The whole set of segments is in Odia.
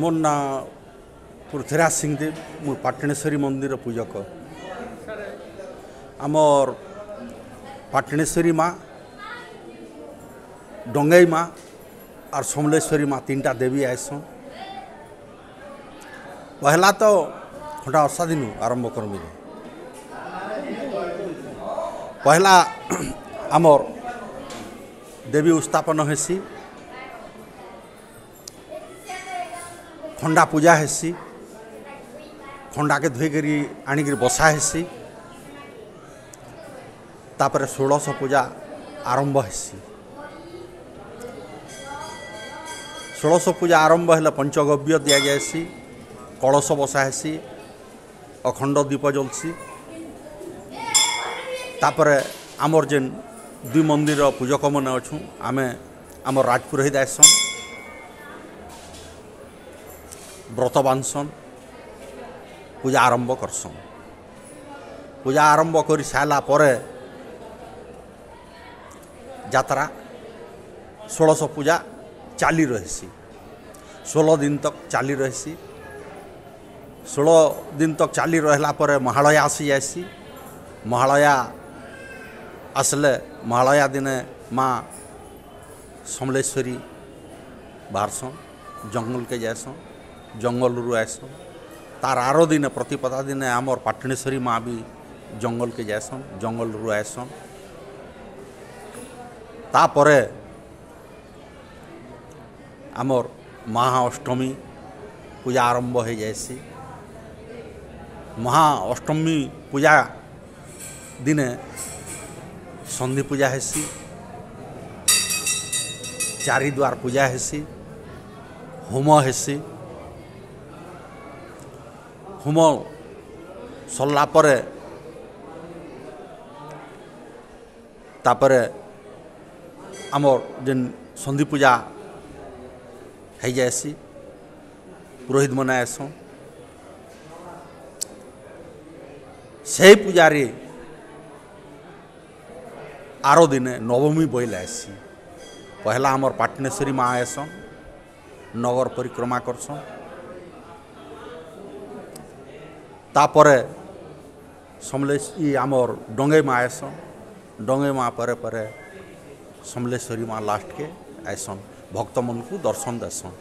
ମୋର୍ ନାଁ ପୃଥ୍ୱୀରାଜ ସିଂଦେବ। ମୁଁ ପାଟଣେଶ୍ୱରୀ ମନ୍ଦିର ପୂଜକ। ଆମର୍ ପାଟଣେଶ୍ୱରୀ ମା, ଡଙ୍ଗେଇ ମା ଆର୍ ସମଲେଶ୍ୱରୀ ମା ତିନିଟା ଦେବୀ ଆଏସନ୍। ପହେଲା ତ ଖଣ୍ଡା ଅର୍ଷା ଦିନୁ ଆରମ୍ଭ କରମି। ପହେଲା ଆମର୍ ଦେବୀ ଉସ୍ଥାପନ ହେସି, ଖଣ୍ଡା ପୂଜା ହେସି, ଖଣ୍ଡାକେ ଧୋଇକରି ଆଣିକରି ବସା ହେସି। ତାପରେ ଷୋଡ଼ଶ ପୂଜା ଆରମ୍ଭ ହେସି। ଷୋଡ଼ଶ ପୂଜା ଆରମ୍ଭ ହେଲେ ପଞ୍ଚଗବ୍ୟ ଦିଆଯାଏସି, କଳସ ବସା ହେସି, ଅଖଣ୍ଡ ଦୀପ ଜଲ୍ସି। ତାପରେ ଆମର୍ ଯେନ୍ ଦୁଇ ମନ୍ଦିର ପୂଜକମାନେ ଅଛୁଁ, ଆମେ ଆମର୍ ରାଜପୁରୋହିତ ଆଏସନ୍, ବ୍ରତ ବାନ୍ଧସନ୍, ପୂଜା ଆରମ୍ଭ କରସନ୍। ପୂଜା ଆରମ୍ଭ କରି ସାରିଲା ପରେ ଯାତ୍ରା ଷୋଡ଼ଶ ପୂଜା ଚାଲି ରହିସି। 16 ଦିନ ତକ୍ ଚାଲି ରହିସି। 16 ଦିନ ତକ୍ ଚାଲି ରହିଲା ପରେ ମହାଳୟା ଆସି ଯାଏସି। ମହାଳୟା ଆସିଲେ ମହାଳୟା ଦିନେ ମା ସମଲେଶ୍ୱରୀ ବାହାରସନ୍, ଜଙ୍ଗଲକେ ଯାଏସନ୍, ଜଙ୍ଗଲରୁ ଆଏସନ୍। ତାର୍ ଆର ଦିନେ ପ୍ରତିପଦା ଦିନେ ଆମର୍ ପାଟଣେଶ୍ୱରୀ ମା ବି ଜଙ୍ଗଲକେ ଯାଏସନ୍, ଜଙ୍ଗଲରୁ ଆଏସନ୍। ତାପରେ ଆମର୍ ମହା ଅଷ୍ଟମୀ ପୂଜା ଆରମ୍ଭ ହେଇଯାଏସି। ମହା ଅଷ୍ଟମୀ ପୂଜା ଦିନେ ସନ୍ଧି ପୂଜା ହେସି, ଚାରିଦ୍ୱାର ପୂଜା ହେସି, ହୋମ ହେସି। ହୋମ ସରିଲା ପରେ ତାପରେ ଆମର୍ ଯେନ୍ ସନ୍ଧି ପୂଜା ହେଇଯାଏସି, ପୁରୋହିତ ମାନେ ଆଏସନ୍। ସେଇ ପୂଜାରେ ଆର ଦିନେ ନବମୀ ବଇଲେ ଆଏସି। ପହେଲା ଆମର୍ ପାଟଣେଶ୍ୱରୀ ମା ଆଏସନ୍, ନଗର ପରିକ୍ରମା କରସନ୍। ତାପରେ ସମଲେଶ୍ୱରୀ ଆମର୍ ଡଙ୍ଗେଇ ମା ଆଏସନ୍। ଡଙ୍ଗେଇ ମା ପରେ ପରେ ସମଲେଶ୍ୱରୀ ମା ଲାଷ୍ଟକେ ଆଏସନ୍, ଭକ୍ତମାନଙ୍କୁ ଦର୍ଶନ ଦେସନ୍।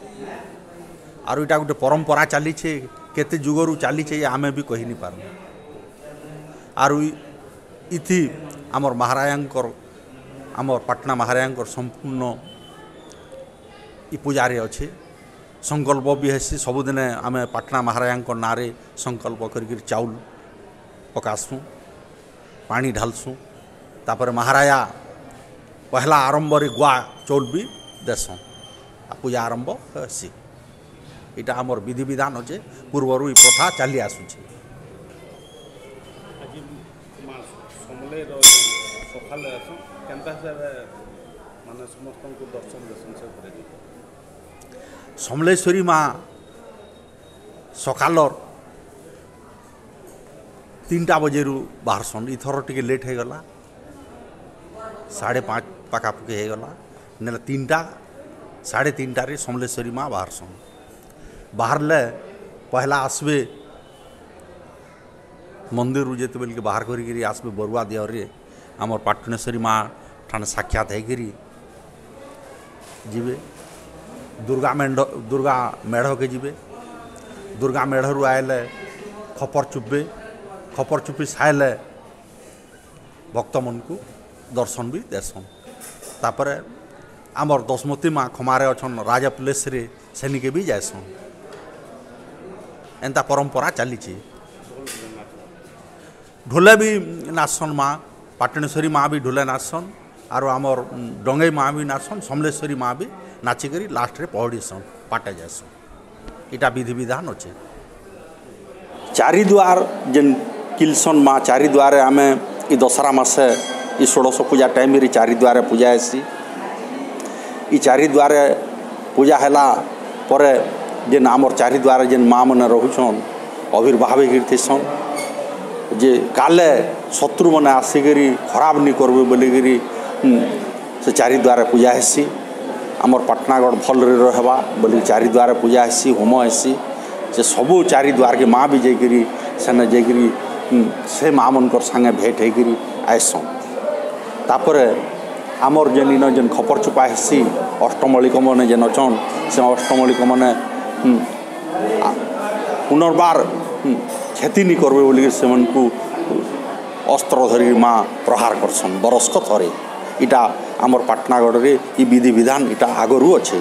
ଆରୁ ଇଟା ଗୋଟେ ପରମ୍ପରା ଚାଲିଛେ, କେତେ ଯୁଗରୁ ଚାଲିଛେ ଆମେ ବି କହି ନି ପାରୁ। ଆରୁ ଇଥି ଆମର୍ ମହାରାଜାଙ୍କର, ଆମର୍ ପାଟଣା ମହାରାଜାଙ୍କର ସମ୍ପୂର୍ଣ୍ଣ ଇ ପୂଜାରେ ଅଛେ। ସଂକଳ୍ପ ବି ହେସି। ସବୁଦିନେ ଆମେ ପାଟଣା ମହାରାଜାଙ୍କ ନାଁରେ ସଂକଳ୍ପ କରିକିରି ଚାଉଲ୍ ପକାସୁଁ, ପାଣି ଢାଲସୁଁ। ତାପରେ ମହାରାଜା ପହେଲା ଆରମ୍ଭରେ ଗୁଆ ଚଉଲ୍ ବି ଦେସନ୍, ଆଉ ପୂଜା ଆରମ୍ଭ ହେସି। ଏଇଟା ଆମର ବିଧିବିଧାନ ଅଛେ, ପୂର୍ବରୁ ଇ ପ୍ରଥା ଚାଲି ଆସୁଛେ। ଆଜି ମା ସମଲେଇର ସକାଳେ ଆସନ୍, କେନ୍ତା ହିସାବରେ ମାନେ ସମସ୍ତଙ୍କୁ ଦର୍ଶନ ଦେସନ୍ ସେ ଉପରେ? ସମଲେଶ୍ୱରୀ ମା ସକାଲର 3ଟା ବଜେରୁ ବାହାରସନ୍। ଇଥର ଟିକେ ଲେଟ୍ ହେଇଗଲା, 5:30 ପାଖାପାଖି ହେଇଗଲା। ନେଲେ 3ଟା 3:30ରେ ସମଲେଶ୍ୱରୀ ମା ବାହାରସନ୍। ବାହାରିଲେ ପହେଲା ଆସିବେ ମନ୍ଦିରରୁ, ଯେତେବେଲକେ ବାହାର କରିକିରି ଆସିବେ ବରୁଆ ଦେହରେ ଆମର୍ ପାଟଣେଶ୍ୱରୀ ମା ଠାନେ ସାକ୍ଷାତ ହେଇକିରି ଯିବେ। ଦୁର୍ଗା ମେଣ୍ଢ, ଦୁର୍ଗା ମେଢ଼କେ ଯିବେ। ଦୁର୍ଗା ମେଢ଼ରୁ ଆଇଲେ ଖପର ଚୁପବେ। ଖପର ଚୁପି ସାଇଲେ ଭକ୍ତମାନଙ୍କୁ ଦର୍ଶନ ବି ଦେସନ୍। ତାପରେ ଆମର୍ ଦଶମତୀ ମା ଖମାରେ ଅଛନ୍ ରାଜା ପ୍ଲେସ୍ରେ, ସେନିକେ ବି ଯାଏସନ୍। ଏନ୍ତା ପରମ୍ପରା ଚାଲିଛେ। ଢୋଲେ ବି ନାଚସନ୍ ମା, ପାଟଣେଶ୍ୱରୀ ମା ବି ଢୋଲେ ନାଚସନ୍, ଆରୁ ଆମର୍ ଡଙ୍ଗେଇ ମା ବି ନାଚସନ୍, ସମଲେଶ୍ୱରୀ ମା ବି ନାଚିକରି ଲାଷ୍ଟରେ ପହଡ଼ିସନ୍, ପାଟେ ଯାଏସନ୍। ଇଟା ବିଧିବିଧାନ ଅଛେ। ଚାରିଦ୍ୱାର ଯେନ୍ କିଲସନ୍ ମା, ଚାରିଦ୍ୱାରେ ଆମେ ଇ ଦଶହରା ମାସେ ଇ ଷୋଡ଼ଶ ପୂଜା ଟାଇମ୍ରେ ଚାରିଦ୍ୱାରେ ପୂଜା ହେସି। ଇ ଚାରିଦ୍ୱାରେ ପୂଜା ହେଲା ପରେ ଯେନ୍ ଆମର୍ ଚାରିଦ୍ୱାରେ ଯେନ୍ ମା ମାନେ ରହୁଛନ୍, ଆବିର୍ଭାବ ହେଇକିରି ଥିସନ୍ ଯେ କାଲେ ଶତ୍ରୁମାନେ ଆସିକରି ଖରାପ ନି କରବେ ବୋଲିକିରି ସେ ଚାରିଦ୍ୱାରେ ପୂଜା ହେସି। ଆମର୍ ପାଟଣାଗଡ଼ ଭଲରେ ରହେବା ବୋଲି ଚାରିଦ୍ୱାର ପୂଜା ହେସି, ହୋମ ହେସି। ସେ ସବୁ ଚାରିଦ୍ୱାରକେ ମା ବି ଯାଇକିରି ସେନେ ଯାଇକିରି ସେ ମା ମାନଙ୍କର୍ ସାଙ୍ଗେ ଭେଟ୍ ହେଇକିରି ଆଏସନ୍। ତାପରେ ଆମର୍ ଯେନ୍ ଇନ ଯେନ୍ ଖପର ଚୁପା ହେସି, ଅଷ୍ଟମଳିକମାନେ ଯେନ୍ ଅଛନ୍, ସେ ଅଷ୍ଟମଳିକମାନେ ପୁନର୍ବାର କ୍ଷତି ନି କରବେ ବୋଲିକି ସେମାନଙ୍କୁ ଅସ୍ତ୍ର ଧରିକି ମା ପ୍ରହାର କରସନ୍ ବରଷକ ଥରେ। ଇଟା ଆମର୍ ପାଟଣାଗଡ଼ରେ ଇ ବିଧି ବିଧାନ ଇଟା ଆଗରୁ ଅଛେ।